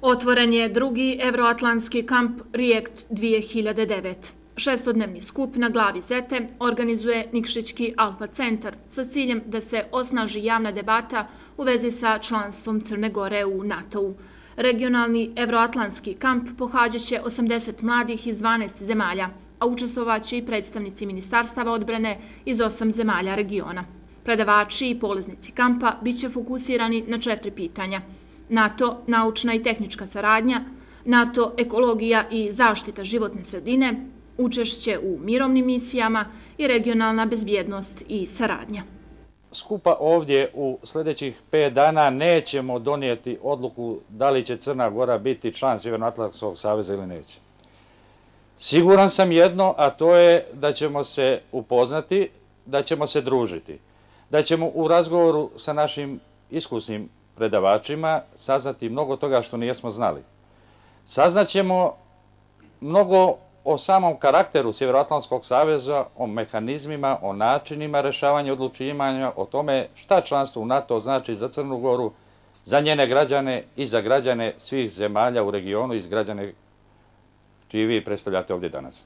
Otvoren je drugi evroatlantski kamp React 2009. Šestodnevni skup na glavi Zete organizuje Nikšićki Alfa centar sa ciljem da se osnaži javna debata u vezi sa članstvom Crne Gore u NATO-u. Regionalni evroatlantski kamp pohađat će 80 mladih iz 12 zemalja, a učestvovaće i predstavnici ministarstava odbrane iz 8 zemalja regiona. Predavači i polaznici kampa biće fokusirani na 4 pitanja: NATO, naučna i tehnička saradnja, NATO, ekologija i zaštita životne sredine, učešće u mirovnim misijama i regionalna bezbjednost i saradnja. Skupa ovdje u sljedećih 5 dana nećemo donijeti odluku da li će Crna Gora biti član Sjevernoatlantskog saveza ili neće. Siguran sam jedno, a to je da ćemo se upoznati, da ćemo se družiti, da ćemo u razgovoru sa našim iskusnim predavačima saznati mnogo toga što nijesmo znali. Saznaćemo mnogo o samom karakteru Sjevernoatlantskog saveza, o mehanizmima, o načinima rješavanja odlučivanja, o tome šta članstvo u NATO znači za Crnu Goru, za njene građane i za građane svih zemalja u regionu i za građane čiji vi predstavljate ovdje danas.